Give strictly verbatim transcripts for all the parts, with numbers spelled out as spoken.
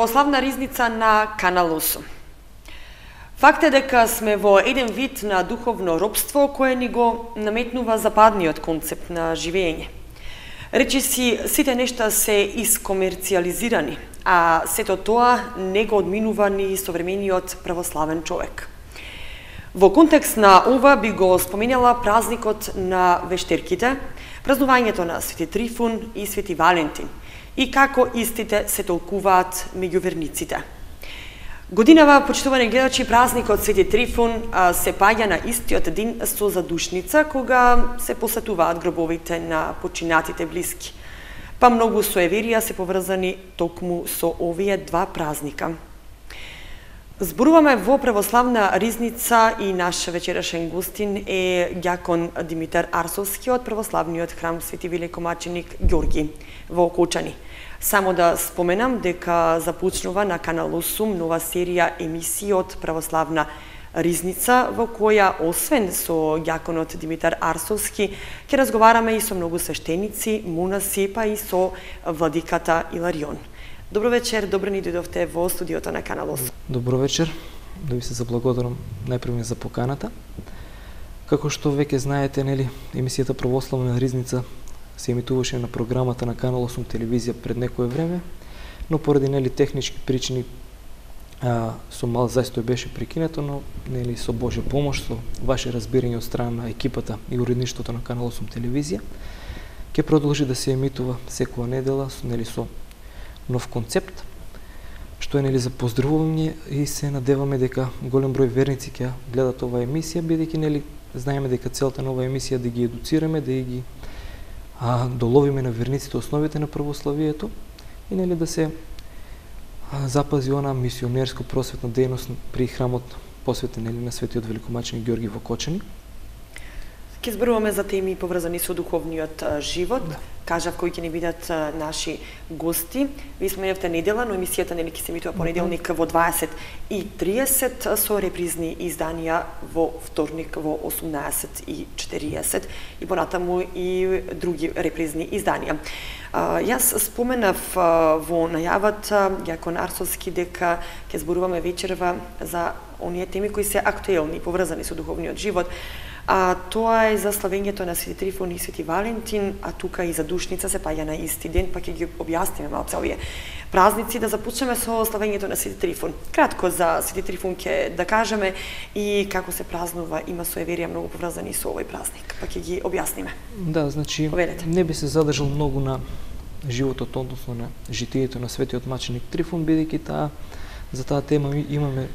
православна ризница на Канал осум. Факт е дека сме во еден вид на духовно робство кое ни го наметнува западниот концепт на живење. Речиси, сите нешта се искомерциализирани, а сето тоа не го одминува ни современиот православен човек. Во контекст на ова би го споменала празникот на вештерките, празнувањето на Свети Трифун и Свети Валентин и како истите се толкуваат меѓу верниците. Годинава, почитувани гледачи, празникот Свети Трифун се паѓа на истиот ден со задушница, кога се посетуваат гробовите на починатите блиски. Па многу суеверија се поврзани токму со овие два празника. Зборуваме во православна ризница и наш вечерашен гостин е ѓакон Димитар Арсовски од православниот храм Свети Великомаченик Ѓорги во Окочани. Само да споменам дека започнува на Канал осум нова серија емисии од православна ризница, во која освен со ѓаконот Димитар Арсовски ќе разговараме и со многу свештеници, монаси, па и со владиката Иларион. Добро вечер, добро ни дојдовте во студиото на Канал осум. Добро вечер, да ви се заблагодарам најпрво за поканата. Како што веќе знаете, нели, емисијата Православна ризница се емитуваше на програмата на Канал осум телевизија пред некое време, но поради нели технички причини а, со мал застој беше прекинато, но нели со Божја помош, со ваше разбирање од страна на екипата и уредништвото на Канал осум телевизија, ќе продолжи да се емитува секоја недела, нели со нов концепт, што е нели за поздравување и се надеваме дека голем број верници ќе гледат оваа емисија, бидејќи нели знаеме дека целта на оваа емисија да ги едуцираме, да ги а, доловиме на верниците основите на православието и нели да се а, запази она мисионерско просветна дејност при храмот посветен нели на Светиот Великомаченик Ѓорги во Окочани. Ке зборуваме за теми поврзани со духовниот живот. Да. Кажав кои ќе ни бидат наши гости. Ви споменавте недела, но емисијата нели ќе се емитува понеделник во дваесет и триесет со репризни изданија во вторник во осумнаесет и четириесет и понатаму и други репризни изданија. Јас споменав во најавата ѓакон Арсовски дека ќе зборуваме вечерва за оние теми кои се актуелни поврзани со духовниот живот. А тоа е за славењето на Свети Трифун и Свети Валентин, а тука и за душница се паѓа на исти ден, па ќе ги објасниме малце овие празници. Да започнеме со славењето на Свети Трифун. Кратко за Свети Трифун ќе да кажеме и како се празнува, има суеверија многу поврзани со овој празник, па ќе ги објасниме. Да, значи Поведете. Не би се задржал многу на животот, односно на житието на Светиот маченик Трифун, бидејќи таа за таа тема имаме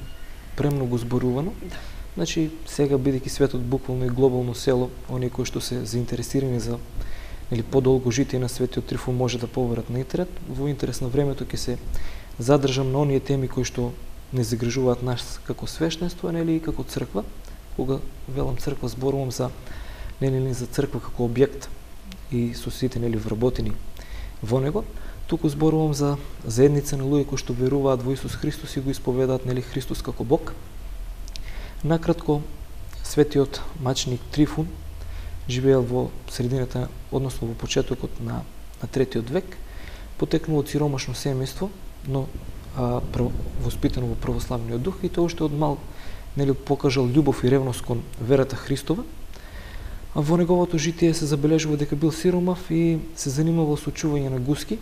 премногу зборувано. Да. Значи, сега бидејќи светот буквално и глобално село, оние кои што се заинтересирани за или подолго житие на Светиот Трифун може да поверат на интернет. Во интерес на времето ќе се задржам на оние теми кои што не загрижуваат нас како свештенство, нели и како црква. Кога велам црква, зборувам за нели за црква како објект и со сите нели вработени во него. Туку зборувам за заедница на луѓе кои што веруваат во Исус Христос и го исповедаат нели Христос како Бог. Накратко, Светиот маченик Трифун живеел во средината, односно во почетокот на, на третиот век, потекнул од сиромашно семејство, но а, прав, воспитано во православниот дух и тој уште од мал нели покажал љубов и ревност кон верата Христова. А во неговото житие се забележува дека бил сиромав и се занимавал со чување на гуски,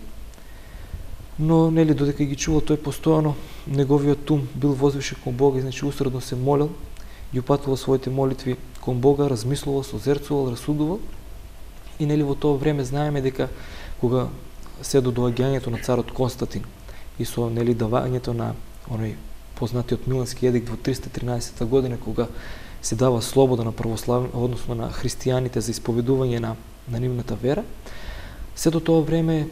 но нели додека ги чувал тој постојано, неговиот ум бил возвишен кон Бога и значи усредно се молел, ги упатувал своите молитви кон Бога, размислувал, созерцувал, расудувал. И нели во тоа време знаеме дека кога се до доаѓањето на царот Константин и со нели давањето на оној познатиот Милански едикт во триста и тринаесета година, кога се дава слобода на православни, односно на христијаните за исповедување на на нивната вера, се до тоа време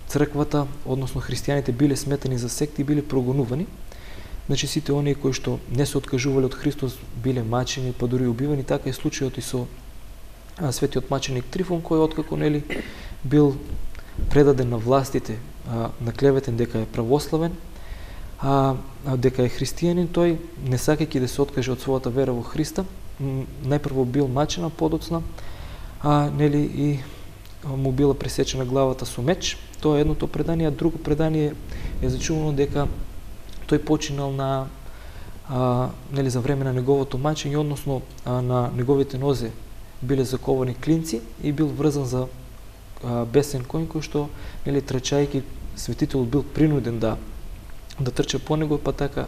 црквата, односно христијаните биле сметани за секти и биле прогонувани. Значи сите оние кои што не се откажувале од Христос биле мачени, па дури убивани. Така е случајот и со а, Светиот маченик Трифун, кој откако нели бил предаден на властите, а, наклеветен дека е православен, а, а дека е христијанин, тој не сакајќи да се откаже од својата вера во Христа, најпрво бил мачен, а подоцна а, нели и му била пресечена главата со меч Тоа е едното предание, а друго предание е зачувано дека тој починал на а, нели за време на неговото мачење, односно а, на неговите нозе биле заковани клинци и бил врзан за а, бесен коњ, кој што нели трчајќи светителот бил принуден да да трча по него, па така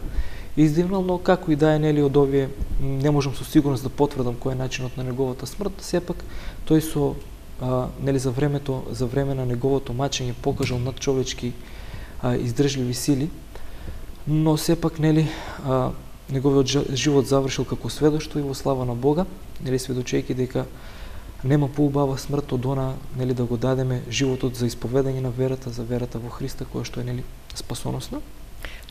издивнал, но како и да е, нели, од овие не можам со сигурност да потврдам кој е начинот на неговата смрт, сепак тој со а, нели за времето за време на неговото мачење покажал надчовечки а, издржливи сили, но сепак нели а, неговиот живот завршил како сведоштво и во слава на Бога, нели сведочејќи дека нема поубава смрт од она, нели, да го дадеме животот за исповедање на верата, за верата во Христа, која што е, нели, спасоносна.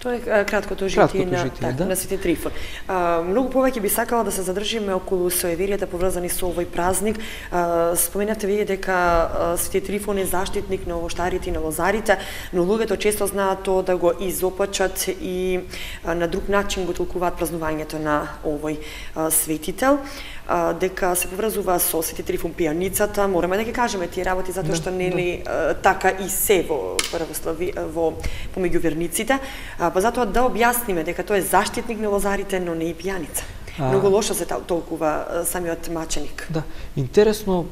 Тоа е краткото житие, краткото на, житие так, да. на Свети Трифон. А, многу повеќе би сакала да се задржиме околу соеверијата поврзани со овој празник. А, споменавте вие дека а, Свети Трифон е заштитник на овоштарите и на лозарите, но луѓето често знаат тоа да го изопачат и а, на друг начин го толкуваат празнувањето на овој а, светител. А, дека се поврзува со Свети Трифон пијаницата, мораме да ги кажеме тие работи затоа што нели да. така и се во православи во помеѓу верниците, а, па затоа да објасниме дека тој е заштитник на лозарите, но не и пијаница. А... Многу лошо се толкува самиот маченик. Да, интересно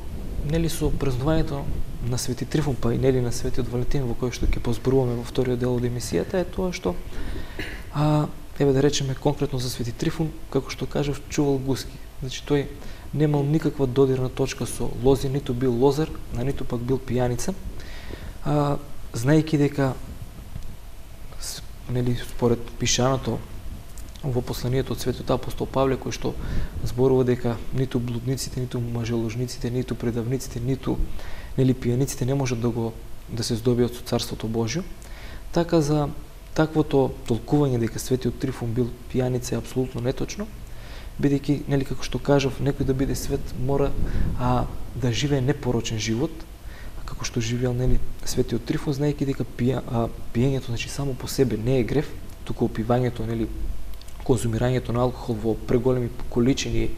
нели со празнувањето на Свети Трифон, па и нели на Светиот Валентин, во кој што ќе позборуваме во вториот дел од емисијата, е тоа што а, еве да речеме конкретно за Свети Трифон, како што кажав, чувал гуски. Значи тој немал никаква додирна точка со лози, ниту бил лозар, а ниту пак бил пијаница. А, знаејќи дека нели според пишаното во посланието од Светиот апостол Павле, кој што зборува дека ниту блудниците, ниту мажеложниците, ниту предавниците, ниту нели пијаниците не можат да го да се здобиат со Царството Божјо, така за таквото толкување дека Светиот Трифон бил пијаница е апсолутно неточно, бидејќи, нели, како што кажав, некој да биде свет мора а, да живее непорочен живот, како што живеел, нели, Светиот Трифон, знаејќи дека пија, а, пиењето, значи, само по себе не е грев, туку опивањето, нели, конзумирањето на алкохол во преголеми количини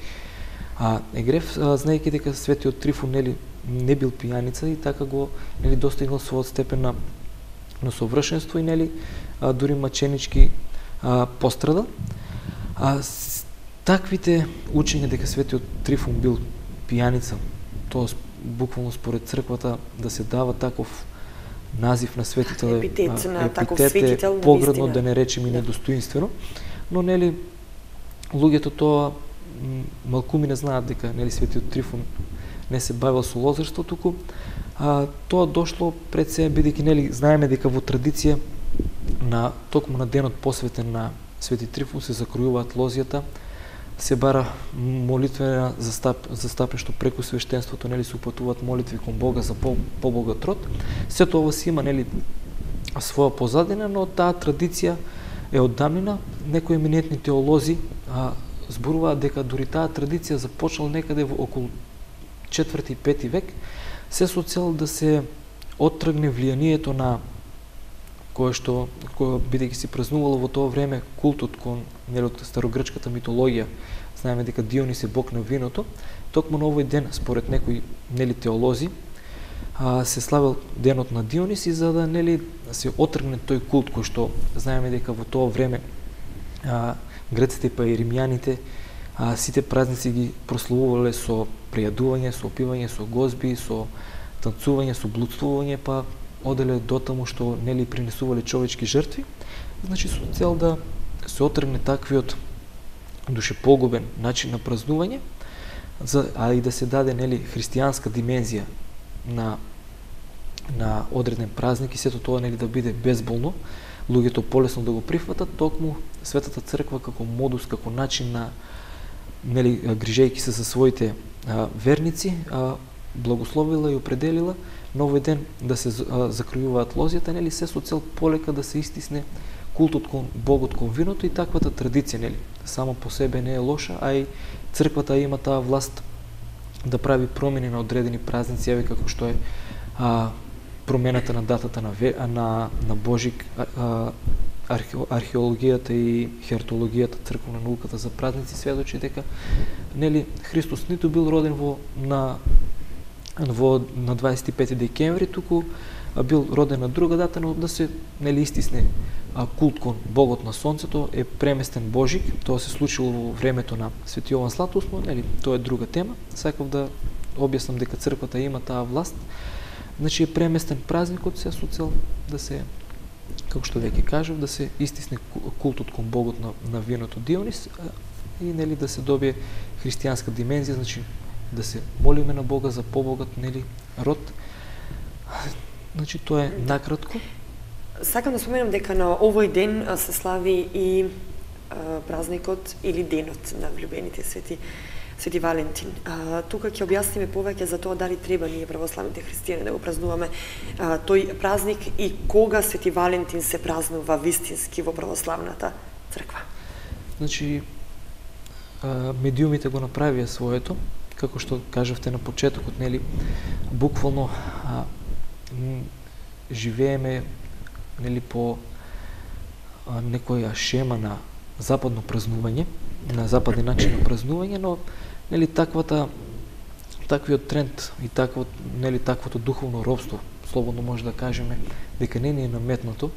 а, е грев, а, знаејќи дека Светиот Трифон, нели, не бил пијаница и така го, нели, достигнал својот степен на, на совршенство и, нели, а, дури маченички а, пострадал. А, Таквите учења дека Светиот Трифон бил пијаница, тоа буквално според црквата да се дава таков назив на светител, епитет на таков светител, поградно да не речеме и недостоинствено, но нели луѓето тоа малкуми не знаат дека нели Светиот Трифон не се бавил со лозарство, туку а, тоа дошло пред се, бидејќи нели знаеме дека во традиција на токму на денот посветен на Свети Трифон се закројуваат лозјата, се бара молитвена застап, застапнешто преку свештенството, нели се упатуваат молитви кон Бога за по, побогат род. Сето ова си има, нели, своја позадина, но таа традиција е од давнина. Некои еминентни теолози а, зборуваат дека дури таа традиција започнала некаде во околу четврти и пети век, се со цел да се оттргне влијанието на кое што, кое бидејќи се празнувало во тоа време култот кон нели од старогрчката митологија, знаеме дека Дионис е бог на виното, токму на овој ден според некои нели теолози а, се славел денот на Дионис и за да нели се оттргне тој култ кој што знаеме дека во тоа време а, греците па и римјаните а, сите празници ги прославувале со пријадување, со опивање, со гозби, со танцување, со блудствување, па оделе до таму што нели принесувале човечки жртви, значи со цел да се отргне таквиот душепогубен начин на празнување, за, а и да се даде нели христијанска димензија на на одреден празник и сето тоа нели да биде безболно, луѓето полесно да го прифатат, токму Светата црква како модус, како начин на нели грижејќи се за своите а, верници, а, благословила и определила на овој ден да се закројуваат лозјата, нели се со цел полека да се истисне култот кон Богот кон виното и таквата традиција, нели само по себе не е лоша, а и црквата има таа власт да прави промени на одредени празници, еве како што е а, промената на датата на на на Божик, а, археологијата и хертологијата, црковна науката за празници сведочи дека нели Христос ниту бил роден во на во на дваесет и пети декември, туку бил роден на друга дата, но да се нели истисне а, култ кон богот на сонцето е преместен Божик. Тоа се случило во времето на Свети Јован Златоуст, но нели тоа е друга тема. Сакав да објаснам дека црквата има таа власт. Значи е преместен празникот се со цел да се, како што веќе кажав, да се истисне култот кон богот на, на виното Дионис и нели да се добие христијанска димензија, значи да се молиме на Бога за побогат нели род. Значи тоа е накратко. Сакам да споменам дека на овој ден се слави и а, празникот или денот на влюбените свети Свети Валентин. А, тука ќе објасниме повеќе за тоа дали треба ние православните христијани да го празнуваме а, тој празник и кога Свети Валентин се празнува вистински во православната црква. Значи а, медиумите го направија своето, како што кажавте на почетокот, нели, буквално а, живееме нели по а, некоја шема на западно празнување, на западен начин на празнување, но нели таквата таквиот тренд и таквот нели таквото духовно робство, слободно може да кажеме дека не ни е наметнато,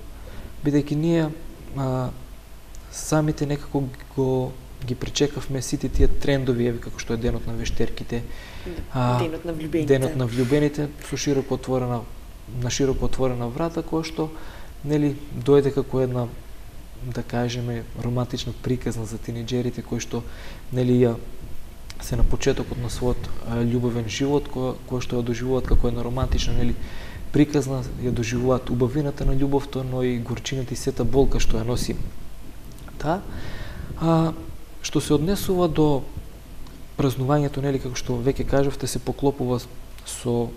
бидејќи ние а, самите некако го ги пречекавме сите тие трендови, еви како што е денот на вештерките, а, денот на влюбените, денот на влюбените со широко отворена на широко отворена врата, која што нели дојде како една, да кажеме, романтична приказна за тинеџерите кои што нели ја се на почетокот на својот љубовен живот, која, која што ја доживуваат како една романтична нели приказна, ја доживуваат убавината на љубовта, но и горчината и сета болка што ја носи таа. А, што се однесува до празнувањето, нели како што веќе кажавте, се поклопува со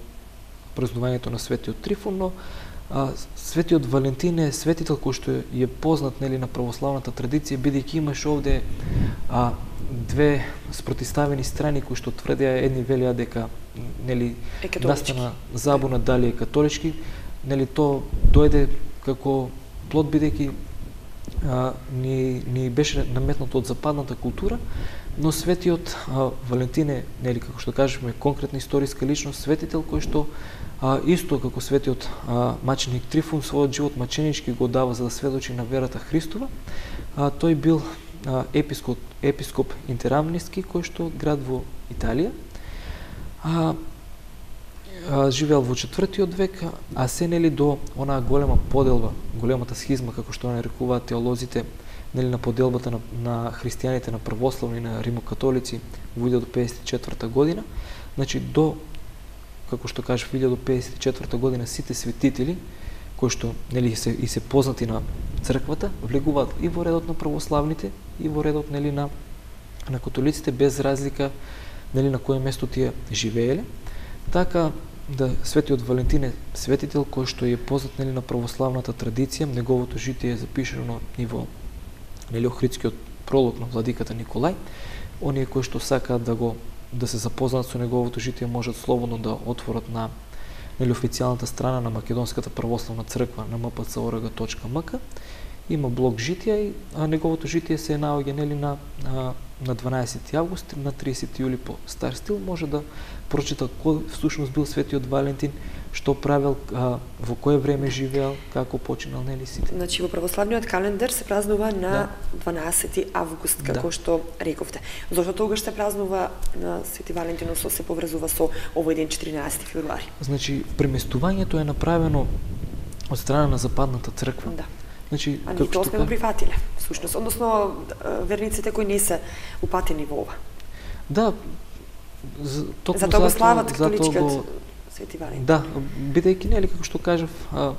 празнувањето на Светиот Трифон, но а, Светиот Валентин е светител кој што е познат нели на православната традиција, бидејќи имаш овде а, две спротиставени страни кои што тврдеа, едни велеа дека нели настана забуна дали е католички, нели то дојде како плод бидејќи а, ни, ни беше наметнато од западната култура, но Светиот а, Валентин е, нели како што кажеме, конкретна историска личност, светител кој што а, исто како светиот а, маченик Трифон својот живот маченички го дава за да сведочи на верата Христова. А, тој бил а, епископ епископ Интерамниски, кој што град во Италија. А, а, живеел во четвртиот век, а се нели до онаа голема поделба, големата схизма како што нарекуваат теолозите, нели на поделбата на, на христијаните на православни и на римокатолици во илјадесет педесет и четврта година. Значи до, како што кажав, илјадесет педесет и четврта година сите светители кои што нели се и се познати на црквата влегуваат и во редот на православните и во редот нели на на католиците, без разлика нели на кое место тие живееле. Така да Светиот Валентин е светител кој што е познат нели на православната традиција, неговото житие е запишано и во нели Охридскиот пролог на владиката Николај. Оние кои што сакаат да го да се запознаат со неговото житие можат слободно да отворат на нели официјалната страна на Македонската православна црква на ем пе це точка о ар ге точка ем ка. Има блог житија и а, неговото житие се наоѓа нели на а, на дванаесети август, на тридесети јули по стар стил, може да прочита кој всушност бил Светиот Валентин, што правел, а, во кое време живеел, како починал нели сите. Значи во православниот календар се празнува на да. дванаесети август, како да. што рековте. Зошто тогаш се празнува на Свети Валентин, со се поврзува со овој ден четиринаесети февруари? Значи преместувањето е направено од страна на западната црква. Да. Значи, а ние тоа сме го прифатиле, всушност, односно верниците кои не се упатени во ова. Да, за, токму за тоа го слават католичкиот Свети Валентин. Да, бидејќи нели како што кажав, а,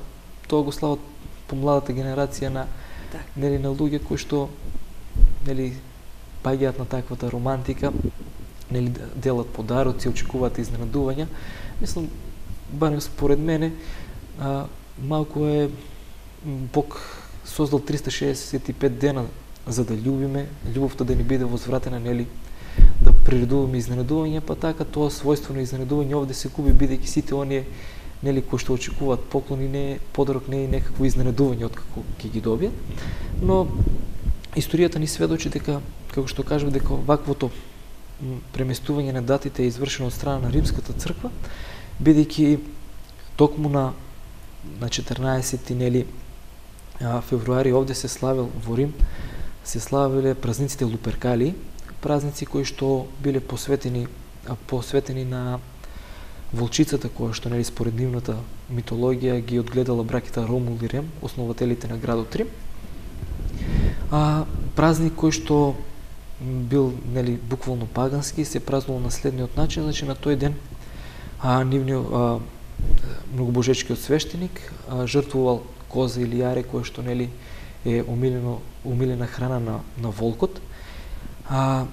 тоа го слават помладата генерација на так. нели на луѓе кои што нели паѓаат на таквата романтика, нели делат подароци, очекуваат изненадувања. Мислам, барем според мене, а, малку е Бог создал триста шеесет и пет дена за да љубиме, љубовта да ни биде возвратена, нели, да приредуваме изненадување, па така тоа својство на изненадување овде се губи, бидејќи сите оние нели кои што очекуваат поклони, не подарок, не е некакво изненадување откако ќе ги добијат. Но историјата ни сведочи дека, како што кажав, дека ваквото преместување на датите е извршено од страна на Римската црква, бидејќи токму на на четрнаесети нели февруари овде се славел во Рим, се славеле празниците Луперкали, празници кои што биле посветени посветени на волчицата која што нели според нивната митологија ги одгледала браќата Ромул и Рем, основателите на градот Рим. А празник кој што бил нели буквално пагански, се празнувал на следниот начин, значи на тој ден а нивниот а, многобожечкиот свештеник а, жртвувал коза или јаре кое што нели е умилено умилена храна на на волкот. А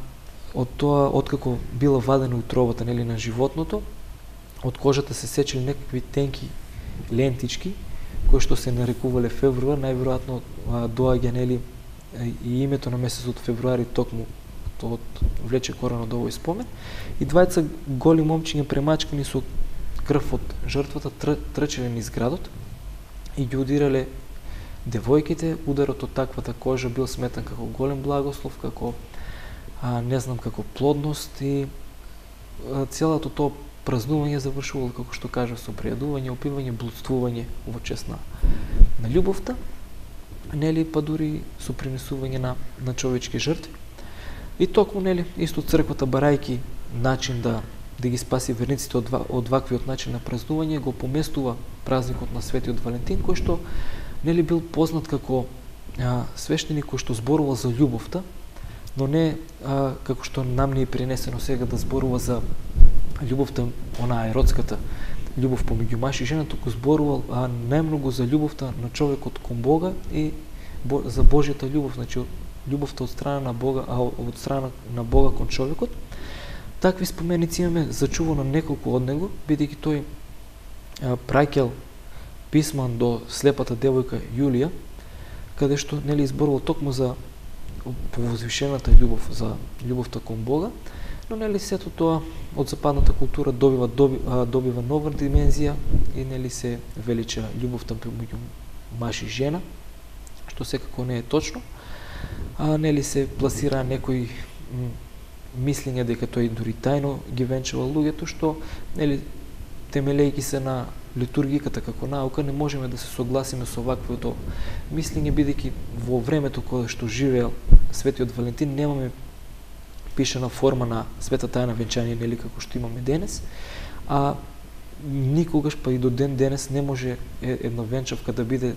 од тоа откако била вадена утробата нели на животното, од кожата се сечели некакви тенки лентички кои што се нарекувале февруар, најверојатно доаѓа нели и името на месецот февруари токму тоа влече корен од овој спомен. И двајца голи момчиња премачкани со крв од жртвата тр, трчеле низ градот и ги удирале девојките. Ударот од таквата кожа бил сметан како голем благослов, како а, не знам како плодност и а, целото тоа празнување завршувало, како што кажа, со пријадување, опивање, блудствување во чест на, на љубовта, нели, па дури со принесување на, на човечки жртви. И токму, нели, исто црквата барајки начин да да ги спаси верниците од, од ваквиот начин на празнување, го поместува празникот на Светиот Валентин, кој што нели бил познат како а, свештеник кој што зборува за љубовта, но не а, како што нам ни е пренесено сега да зборува за љубовта, онаа еротската љубов помеѓу маж и жена, туку зборувал а, најмногу за љубовта на човекот кон Бога и бо, за Божјата љубов, значи љубовта од страна на Бога, а од страна на Бога кон човекот. Такви споменици имаме зачувано неколку од него, бидејќи тој а, праќал писма до слепата девојка Јулија, каде што нели изборувал токму за повозвишената љубов, за љубовта кон Бога, но нели сето тоа од западната култура добива добива, добива нова димензија и нели се велича љубовта помеѓу маж и жена, што секако не е точно. А нели се пласира некои мислење дека тој дури тајно ги венчава луѓето, што нели темелејќи се на литургиката како наука не можеме да се согласиме со ваквото мислење, бидејќи во времето кога што живеел Светиот Валентин немаме пишана форма на света тајна венчање, нели како што имаме денес, а никогаш па и до ден денес не може една венчавка да биде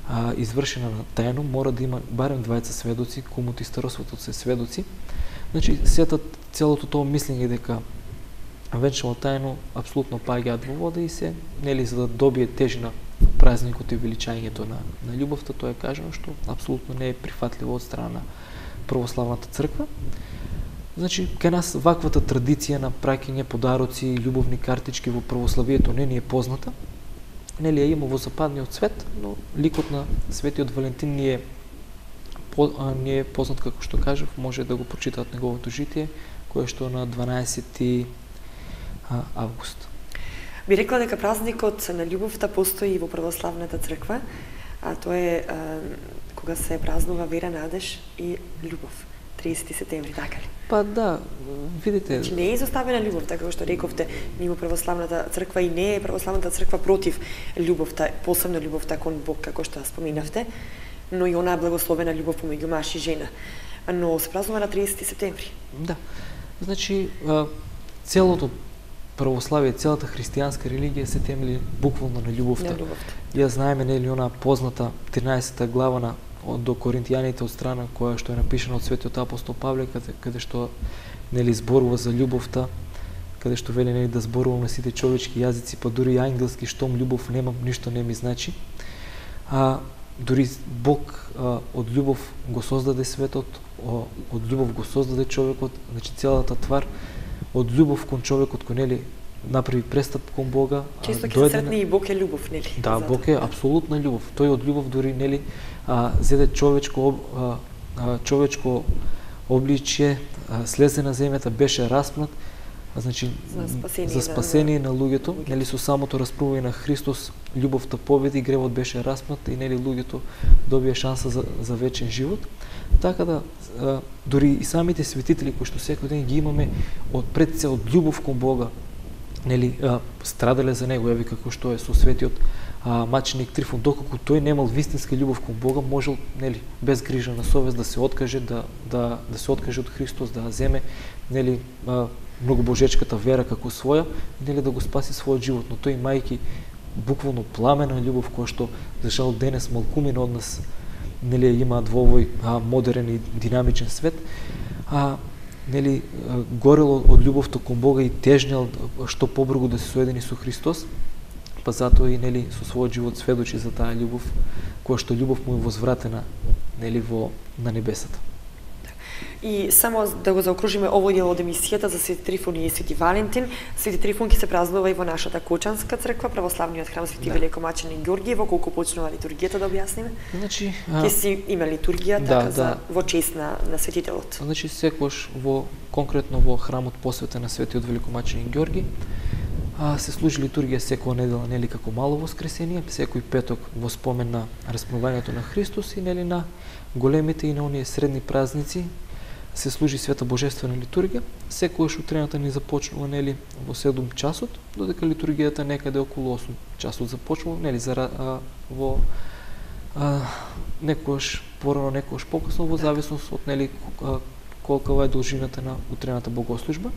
а, извршена на тајно, мора да има барем двајца сведоци, комут и старосветот се сведоци. Значи, сета целото тоа мислење дека венчано тајно апсолутно паѓаат во вода и се, нели, за да добие тежина празникот и величањето на, на љубовта, тоа е кажано што апсолутно не е прифатливо од страна на православната црква. Значи, кај нас ваквата традиција на праќање подароци и љубовни картички во православието не ни е позната. Нели ја има во западниот свет, но ликот на Светиот Валентин ни е по, а, ни е познат, како што кажав, може да го прочитаат неговото житие, кое што на дванаесети август. Би рекла дека празникот на љубовта постои во православната црква, а тоа е а, кога се празнува вера, надеж и љубов. триесети септември, така ли? Па да, видите... Значи не е изоставена љубовта, како што рековте, мимо православната црква, и не е православната црква против љубовта, посебно љубовта кон Бог, како што споминавте, но и онаа благословена љубов помеѓу маж и жена. Но се празнува на триесети септември. Да. Значи, целото православие, целата христијанска религија се темели буквално на љубовта. На љубовта. Ја знаеме нели она позната тринаесета глава на до Коринтијаните од страна која што е напишана од Светиот апостол Павле, каде, каде што нели зборува за љубовта, каде што вели нели да зборувам на сите човечки јазици, па дури и ангелски, штом љубов немам, ништо не ми значи. А дури Бог а, од љубов го создаде светот, од љубов го создаде човекот, значи целата твар од љубов кон човекот кој нели направи престап кон Бога. Често ќе се сретне и Бог е љубов, нели? Да, Бог е апсолутна љубов. Тој од љубов дури нели а, зеде човечко а, а, човечко обличје, а, слезе на земјата, беше распнат, а, значи за спасение, за спасение на, на луѓето, на нели со самото распнување на Христос љубовта победи, гревот беше распнат и нели луѓето добија шанса за, за вечен живот. Така да а, дури и самите светители кои што секој ден ги имаме од пред се од љубов кон Бога, нели а, страдале за него, еви како што е со Светиот а, маченик Трифон, доколку тој немал вистинска љубов кон Бога, можел, нели, без грижа на совест да се откаже, да да да се откаже од Христос, да земе, нели, а, многобожечката вера како своја, нели, да го спаси својот живот, но тој мајки буквално пламена љубов која што за жал денес малкумина од нас, нели, имаат во овој а, модерен и динамичен свет, а нели, горело од љубовта кон Бога и тежнел што побргу да се соедини со Христос, па затоа и, нели, со својот живот сведочи за таа љубов, која што љубов му е возвратена, нели, во на небесата. И само да го заокружиме овој дел од емисијата за Свети Трифон и Свети Валентин. Свети Трифон ќе се празнува и во нашата Кочанска црква, православниот храм Свети да. Великомаченик Ѓорги. Во колку почнува литургијата, да објасниме? Значи, ќе си има литургија да, така да. За во чест на на светителот. Значи секогаш во конкретно во храмот посветен на Светиот Великомаченик Ѓорги, а, се служи литургија секоја недела, нели, како мало воскресение, секој петок во спомен на распнувањето на Христос и, нели, на големите и на оние средни празници се служи света божествена литургија. Секогаш утрената ни започнува, нели, во седум часот, додека литургијата некаде околу осум часот започнува, нели, за а, во а, некогаш порано, некогаш покасно, во зависност од, нели, колкава е должината на утрената богослужба.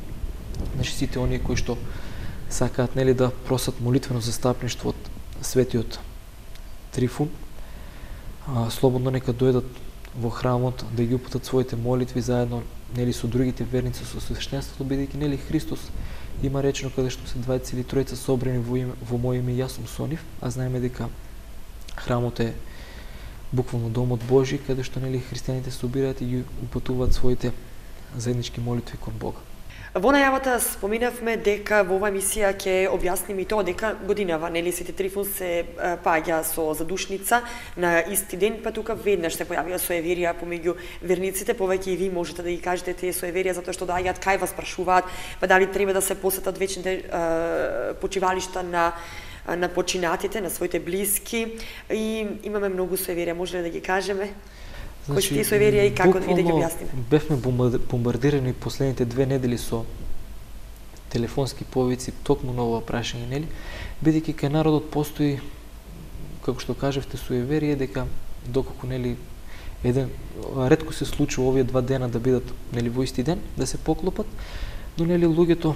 Значи сите оние кои што сакаат, нели, да просат молитвено застапништво од Светиот Трифун, а, слободно нека дојдат во храмот да ги упатат своите молитви заедно, нели, со другите верници, со свештенството, бидејќи, нели, Христос има речено каде што се двајца или тројца собрани во име, во моје име, јас сум со нив, а знаеме дека храмот е буквално домот Божи, каде што, нели, христијаните се собираат и ги упатуваат своите заеднички молитви кон Бога. Во најавата споминавме дека во оваа емисија ќе објасниме и тоа дека годинава, нели, Свети Трифон се паѓа со задушница на исти ден, па тука веднаш се појавија соеверија помеѓу верниците, повеќе и ви можете да ги кажете тие соеверија, затоа што доаѓаат кај вас прашуваат, па дали треба да се посетат вечните е, почивалишта на на починатите, на своите блиски, и имаме многу соеверија, може ли да ги кажеме? Кои се тие соеверија и како да ги објасниме? Бевме бомбардирани последните две недели со телефонски повици токму на ова прашање, нели? Бидејќи кај народот постои, како што кажавте, соеверие дека доколку, нели, еден ретко се случува овие два дена да бидат, нели, во исти ден, да се поклопат, но, нели, луѓето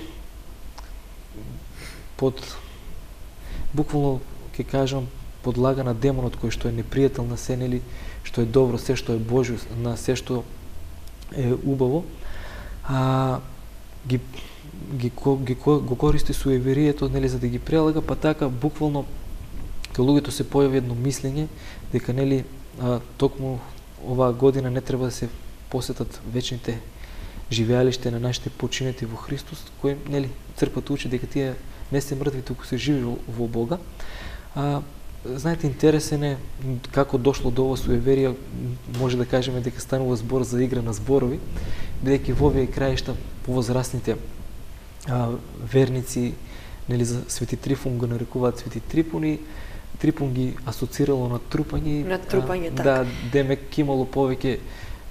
под буквално ќе кажам подлага на демонот кој што е непријател на се, нели, што е добро, се што е Божјо, на се што е убаво, а ги ги ги го користи суеверието, нели, за да ги прелага, па така буквално кај луѓето се појави едно мислење дека, нели, а, токму оваа година не треба да се посетат вечните живеалиште на нашите починати во Христос, кои, нели, црквата учи дека тие не се мртви, туку се живи во, во Бога. А, знаете, интересен е како дошло до ова суеверија, може да кажеме дека станува збор за игра на зборови, бидејќи во овие краишта повозрастните а, верници, нели, за Свети Трифон го нарекуваат Свети Трифон и Трифон ги асоцирало на трупање. На трупање, така. Да, демек имало повеќе,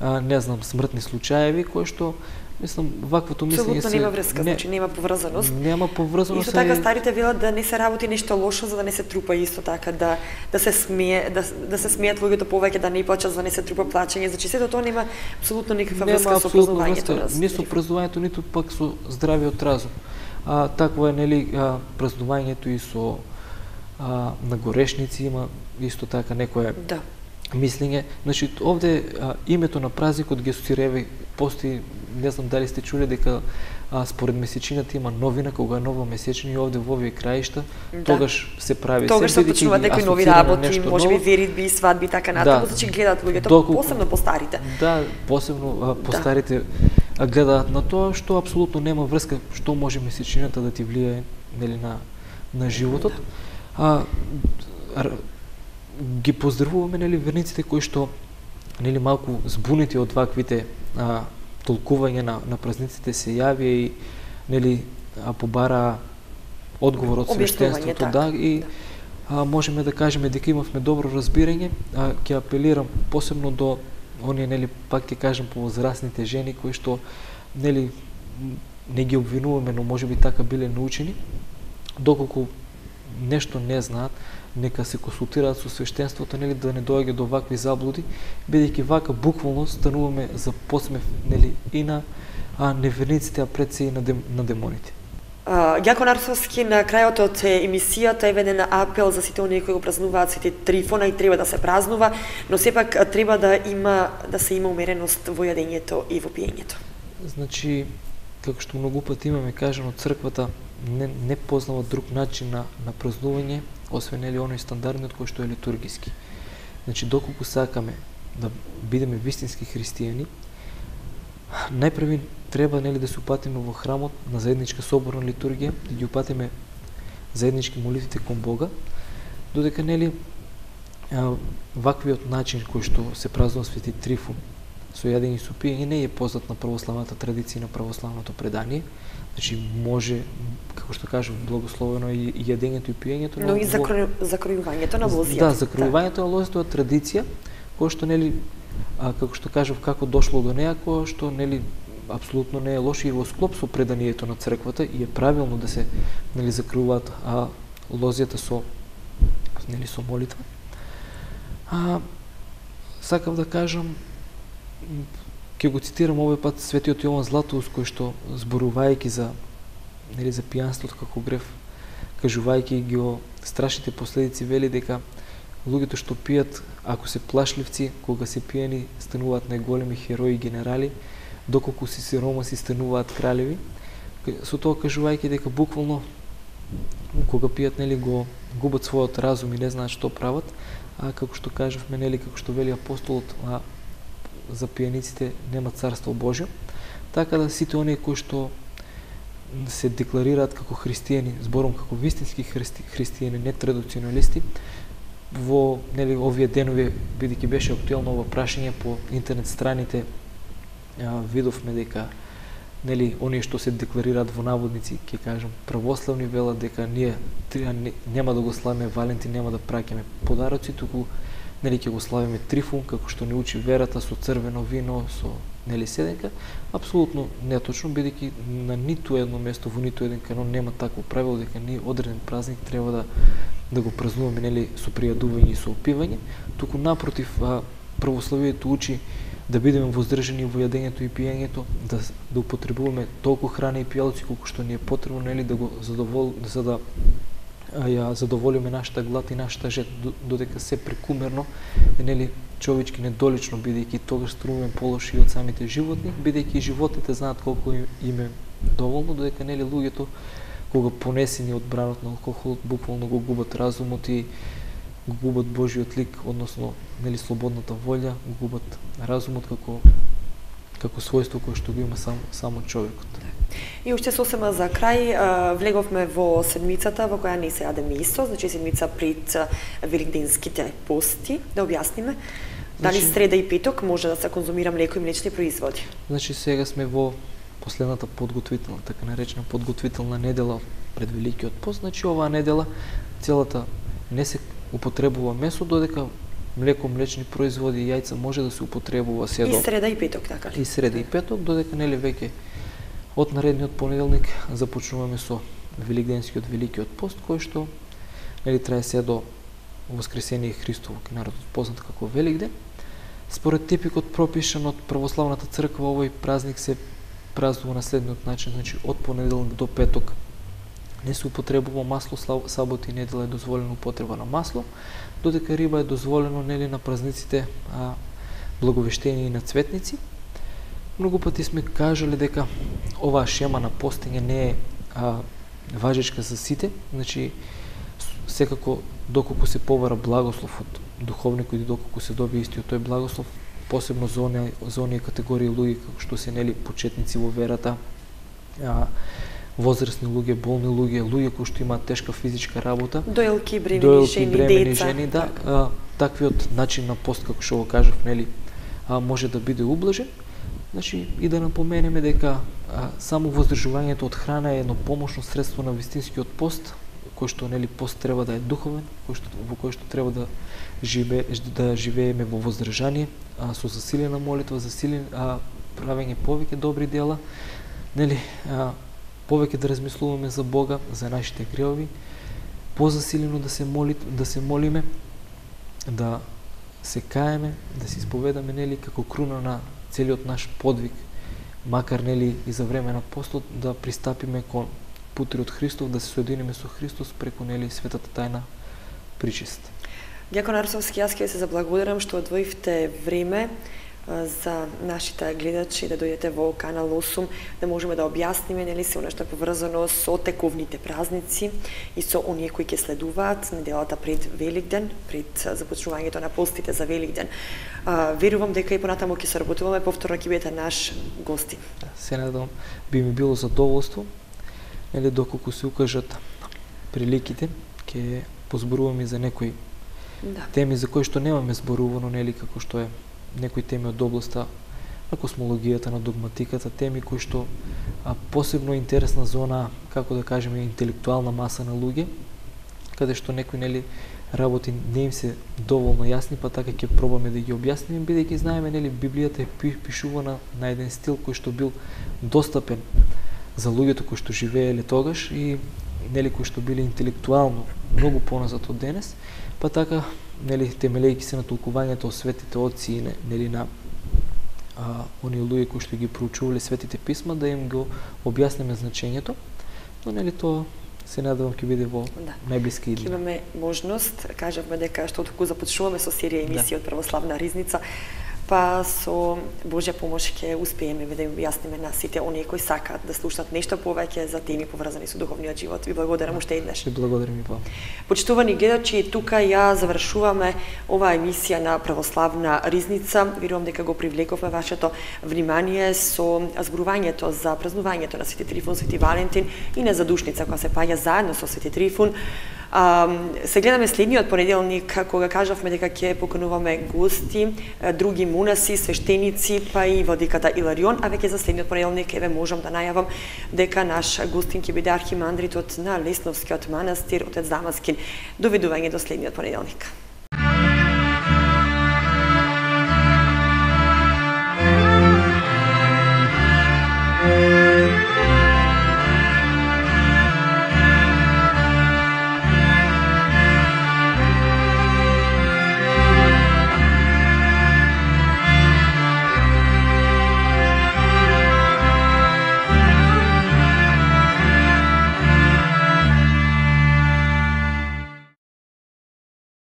а, не знам, смртни случаеви, кои што, мислам, ваквото мислење се... Абсолютно нема врска, не, значи нема поврзаност. Нема поврзаност. Исто така старите велат да не се работи нешто лошо за да не се трупа, исто така да да се смее, да да се смеат луѓето повеќе, да не плаќат за да не се трупа плаќање. Значи сето тоа нема апсолутно никаква врска со празнувањето. Ни со празнувањето, ниту пак со здравиот разум. А такво е, нели, празнувањето и со а, на горешници има исто така некое да. мислење. Значи овде а, името на празникот ги асоцира, постои, не знам дали сте чули дека а, според месечината има новина, кога е нова месечина и овде во овие краишта, да. тогаш се прави тогаш се почнуваат некои нови работи, можеби веридби, свадби и така натаму, значи да. гледаат луѓето, доколку, посебно по старите. Да, посебно а, по да. старите гледаат на тоа, што апсолутно нема врска што може месечината да ти влијае, нели, на на животот. А, ги поздравуваме, нели, верниците кои што, нели, малку збунети од ваквите а, толкување на, на празниците се јавија и, нели, а, побара одговор од свештенството, да, и а, можеме да кажеме дека имавме добро разбирање. А, ќе апелирам посебно до оние, нели, пак ќе кажам, повозрастните жени кои што, нели, не ги обвинуваме, но можеби така биле научени, доколку нешто не знаат, нека се консултираат со свештенството, нели, да не доаѓа до вакви заблуди, бидејќи вака буквално стануваме за посмев, нели, и на а, неверниците, а пред се и на, дем, на демоните. Ѓако Нарсовски, на крајот од емисијата е веден апел за сите оние кои го празнуваат Свети Трифона и треба да се празнува, но сепак треба да има да се има умереност во јадењето и во пиењето. Значи, како што многу пати имаме кажано, црквата не, не познава друг начин на, на празнување, освен нели оној стандардниот кој што е литургиски. Значи, доколку сакаме да бидеме вистински христијани, најпрви треба, нели, да се упатиме во храмот на заедничка соборна литургија, да ги упатиме заеднички молитвите кон Бога, додека, нели, ваквиот начин кој што се празнува Свети Трифун со јадење и со пиење не е познат на православната традиција и на православното предание. Значи, може, како што кажав, благословено и јадењето и пиењето, но, но и закро... закројувањето на лозијата. Да, закројувањето на лозијата е традиција која што, нели, а, како што кажав, како дошло до неа, која што, нели, апсолутно не е лошо и во склоп со преданието на црквата и е правилно да се, нели, закројуваат а лозијата со, нели, со молитва. А, сакав да кажам, ќе го цитирам овој пат светиот Јован Златоуст, кој што, зборувајќи за, нели, за пијанството како грев, кажувајќи ги о страшните последици, вели дека луѓето што пијат, ако се плашливци, кога се пијани, стануваат најголеми херои и генерали, доколку си сиромаси стануваат кралеви. Со тоа кажувајќи дека буквално кога пијат, нели, го губат својот разум и не знаат што прават, а како што кажавме, нели, како што вели апостолот, а, за пијаниците нема царство Божјо, така да сите оние кои што се декларираат како христијани, зборам како вистински христи, христијани, не традиционалисти, во, нели, овие денови, бидејќи беше актуелно ова прашање по интернет страните, а, видовме дека, нели, оние што се декларираат во наводници, ќе кажам, православни, велат дека ние нема да го славиме Валентин, нема да праќаме подароци, туку, нели, ќе го славиме Трифун, како што ни учи верата, со црвено вино, со, нели, седенка. Апсолутно неточно, бидејќи на ниту едно место, во ниту еден канон нема такво правило дека ние одреден празник треба да да го празнуваме, нели, со пријадување и со опивање, туку напротив, а, православието учи да бидеме воздржани во јадењето и пиењето, да да употребуваме толку храна и пијалци колку што ни е потребно, нели, да го задовол за да а, ја задоволиме нашата глад и нашата жед, додека се прекумерно е, нели, човечки недолично, бидејќи тогаш стануваме полоши од самите животни, бидејќи животните знаат колку им е доволно, додека, нели, луѓето кога понесени од бранот на алкохолот буквално го губат разумот и го губат Божиот лик, односно, нели, слободната волја, го губат разумот како како својство кое што го има сам, само човекот. И уште сосема за крај, влеговме во седмицата во која не се јаде месо, значи седмица пред великденските пости, да објасниме. Дали значи, среда и петок може да се конзумира млеко и млечни производи? Значи сега сме во последната подготвителна, така наречена подготвителна недела пред Великиот пост, значи оваа недела целата не се употребува месо, додека млеко, млечни производи и јајца може да се употребува се до... И среда и петок, така ли? И среда и петок, додека, нели, веќе од наредниот понеделник започнуваме со Великденскиот Великиот пост, кој што, нели, трае се до Воскресение Христово, кај народот познат како Великден. Според типикот пропишан од православната црква, овој празник се празнува на следниот начин, значи од понеделник до петок не се употребува масло, сабота и недела е дозволено употреба на масло, додека риба е дозволено, нели, на празниците а, Благовештение и на Цветници. Многу пати сме кажале дека оваа шема на постење не е а, важечка за сите, значи секако доколку се побара благослов од духовникот и доколку се добие истиот тој благослов, посебно за оние, за оние категории луѓе како што се, нели, почетници во верата, а, возрастни луѓе, болни луѓе, луѓе кои што имаат тешка физичка работа, дојлки, бремени, дојлки, жени, бремени, деца, жени, да, а, таквиот начин на пост, како што го кажав, нели, а, може да биде ублажен. Значи, и да напоменеме дека а, само воздржувањето од храна е едно помошно средство на вистинскиот пост, кој што, нели, пост треба да е духовен, кој што, во кој што треба да живе, да живееме во воздржание, а, со засилена молитва, засилен а, правење повеќе добри дела, нели, а, повеќе да размислуваме за Бога, за нашите гревови, позасилено да се моли, да се молиме, да се каеме, да се исповедаме, нели, како круна на целиот наш подвиг, макар, нели, и за време на постот, да пристапиме кон путриот Христов, да се соединиме со Христос преку, нели, светата тајна причест. Дјакон Арсовски, јас ќе се заблагодарам што одвоивте време за нашите гледачи да дојдете во канал осум, да можеме да објасниме, нели, се нешто поврзано со тековните празници и со оние кои ќе следуваат неделата пред Великден, пред започнувањето на постите за Великден. А, верувам дека и понатаму ќе се работуваме, повторно ќе бидете наш гости. Се надам, би ми било задоволство, нели, доколку се укажат приликите, ќе позборуваме за некои да. теми за кои што немаме зборувано, нели, како што е некои теми од областа на космологијата, на догматиката, теми кои што а, посебно интересна зона, како да кажеме, интелектуална маса на луѓе, каде што некои, нели, работи не им се доволно јасни, па така ќе пробаме да ги објасниме, бидејќи знаеме, нели, Библијата е пишувана на еден стил кој што бил достапен за луѓето кои што живееле тогаш и, нели, кои што биле интелектуално многу поназад од денес, па така, нели, темелејќи се на толкувањето од светите отци и, нели, на а, оние луѓе кои што ги проучувале светите писма, да им го објасниме значењето, но, нели, тоа се надевам ќе биде во да. најблиски иднина. Имаме можност, кажавме дека што толку започнуваме со серија емисија да. од Православна ризница, па со Божја помош ќе успееме да им објасниме на сите оние кои сакаат да слушнат нешто повеќе за теми поврзани со духовниот живот. Ви благодарам уште еднаш. Ви благодарам и вам. Почитувани гледачи, тука ја завршуваме оваа емисија на Православна ризница. Верувам дека го привлековме вашето внимание со зборувањето за празнувањето на Свети Трифун, Свети Валентин и на задушница која се паѓа заедно со Свети Трифун. Um, се гледаме следниот понеделник, кога кажавме дека ќе покануваме гости, други монаси, свештеници, па и владиката Иларион, а веќе за следниот понеделник еве можам да најавам дека наш гостин ќе биде архимандритот на Лесновскиот манастир, отец Дамаскин. Довидување до следниот понеделник.